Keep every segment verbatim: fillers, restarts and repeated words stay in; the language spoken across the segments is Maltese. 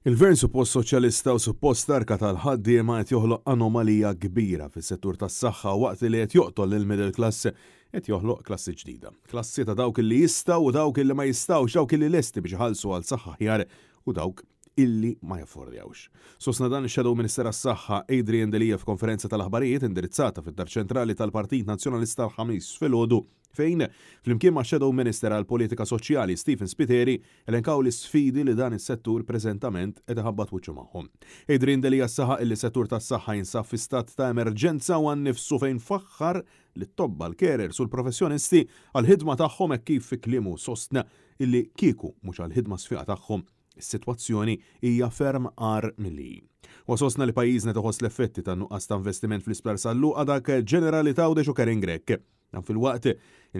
Il-Gvern suppost soċjalista u suppost tarka tal-ħaddiema qed joħloq anomalija kbira fis-settur tas-saħħa waqt li qed joqtol lil middle class, qed joħloq klassi ġdida. Klassi ta' dawk li jistgħu u dawk li ma jistgħux, dawk li lesti biex iħallsu għal saħħa aħjar u dawk illi ma jaffordjawx. Sostna dan ix-Shadow Minister għas-Saħħa Adrian Delia f'konferenza tal-aħbarijiet indirizzata fid-Dar Ċentrali tal-Partit Nazzjonalista l-Ħamis filgħodu, fejn flimkien ma' Shadow Minister għal Politika Soċjali Stephen Spiteri elenkaw l-sfidi li dan is-settur preżentament qed iħabbat wiċċu magħhom. Adrian Delia saħaq li settur tas-saħħa jinsab fi stat ta' emerġenza u għan-nifsu, fejn faħħar lit-tobba, l-carers u l-professjonisti għal-ħidma tagħhom, hekk kif fi kliemu sostna illi kieku mhux għal-ħidma sfiqa tagħhom, is-sitwazzjoni hija ferm agħar milli. U sostna li pajjiżna toħos l-effetti ta' nuqqas ta' investiment fl-Isptar San Luqa, dak ġenerali t'Għawdex u Karin Grech. Dan filwaqt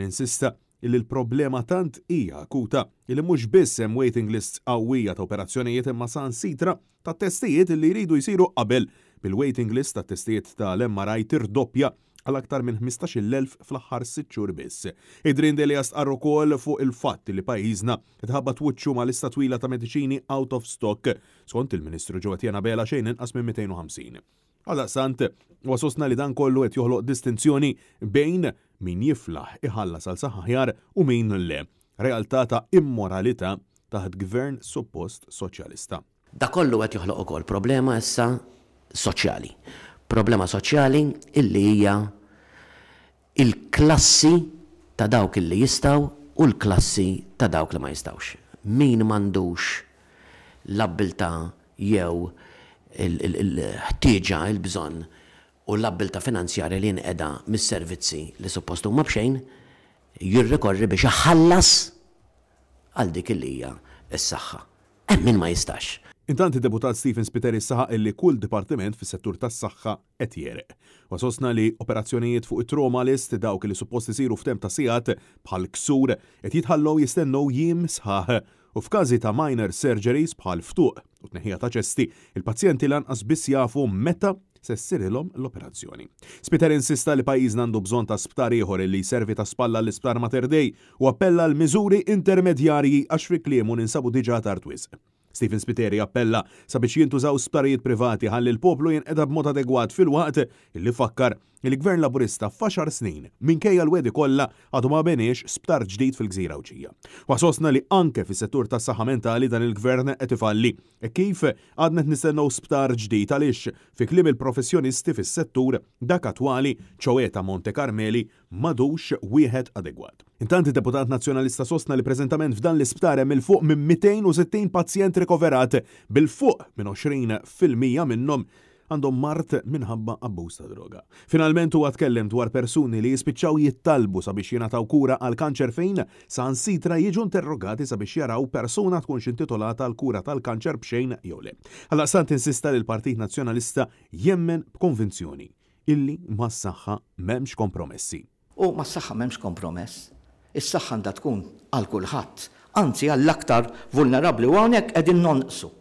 insista illi l-problema tant hija akuta illi mhux biss hemm waiting lists qawwija ta' operazzjonijiet, imma saħansitra ta' testijiet li jridu jsiru qabel, bil-waiting list ta' testijiet tal-M R I tirdoppja għal aktar minn ħmistax-il elf fl-aħħar sitt xhur biss. Adrian Delia stqarr ukoll fuq il-fatt li pajjiżna tħabbat wiċċu ma' lista twila ta' mediċini out of stock, skont il-Ministru Jo Etienne Abela xejn inqas minn mitejn u ħamsin. Għaldaqstant, u sostna li dan kollu qed joħloq distinzjoni bejn min jiflaħ iħallas għal saħħa aħjar u min le. Realtà ta' immoralità taħt gvern suppost soċjalista. Da kollu qed joħloq ukoll problema issa soċjali. Problema soċjali illi hija il-klassi ta' dawk illi jistgħu u l-klassi ta' dawk li ma jistgħux. Min m'għandux l-abbiltà jew il-ħtieġa, il-bżonn u l-abbiltà finanzjarja li jinqeda mis-servizzi li suppost huma b'xejn, jirrikorri biex iħallas għal dik li hija s-saħħa. Hemm min ma jistax. Intant, id-deputat Stephen Spiteri saħaq illi kull dipartiment fis-settur tas-saħħa qed jegħreq. U sostna li operazzjonijiet fuq it-trauma list, dawk li suppost isiru f'temp ta' sigħat, bħal ksur, qed jitħallew jistennew jiem sħaħ, u f'każi ta' minor surgeries bħal ftuq u tneħħija ta' ċesti, il-pazjenti lanqas biss jafu meta se ssirilhom l-operazzjoni. Spiteri insista li pajjiżna għandu bżonn ta' sptar ieħor li jservi ta' spalla l-isptar Mater Dei u appella l-miżuri intermedjarji għax fi kliemu ninsabu diġà tard wisq. Stephen Spiteri appella sabiex jintużaw sptarijiet privati ħalli l-poplu jinqeda b'mod adegwat, filwaqt illi fakkar il-Gvern Laburista f'għaxar snin, minkejja l-wegħdi kollha, għadu ma beniex sptar ġdid fil-Gżira Għawdxija. Wa sostna li anke fis-settur tas-saħħa mentali dan il-gvern qed ifalli e kif għadna nistennew sptar ġdid, għaliex fi kliem il-professjonisti fis-settur, dak attwali, ċoè ta' Monte Carmeli, m'għadux wieħed adegwat. Intant, id-deputat nazzjonalista sostna li preżentament f'dan l-isptar hemm 'il fuq minn mitejn u sittin pazjent rikoverat, bil-fuq minn għoxrin fil-mija minnhom għandhom mard minħabba abbuż ta' droga. Finalment, huwa tkellem dwar persuni li jispiċċaw jittalbu sabiex jingħataw kura għal kanċer, fejn saħansitra jiġu interrogati sabiex jaraw persuna tkunx intitolata għal kura tal-kanċer b'xejn jew le. Għaldaqstant insista li l-Partit Nazzjonalista jemmen b'konvinzjoni illi mas-saħħa m'hemmx kompromessi. U mas-saħħa m'hemmx kompromess. Is-saħħa għandha tkun għal kulħadd, anzi għall-aktar vulnerabbli, u hawnhekk qegħdin nonqsu.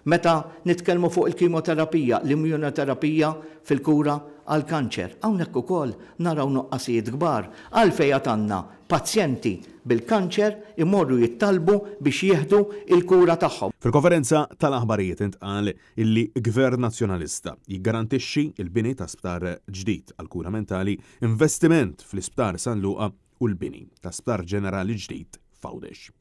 Meta nitkellmu fuq il-kimoterapija, l-immunoterapija fil-kura għal-kanċer, hawnhekk ukoll naraw nuqqasijiet kbar. Għalfejn għandna pazjenti bil-kanċer imorru jittalbu biex jieħdu il-kura tagħhom? Fil-konferenza tal-aħbarijiet intqal illi Gvern Nazzjonalista jiggarantixxi il-bini ta' sptar ġdid għal-kura mentali, investiment fl-isptar San Luqa u l-bini ta' sptar ġenerali ġdid f'Għawdex.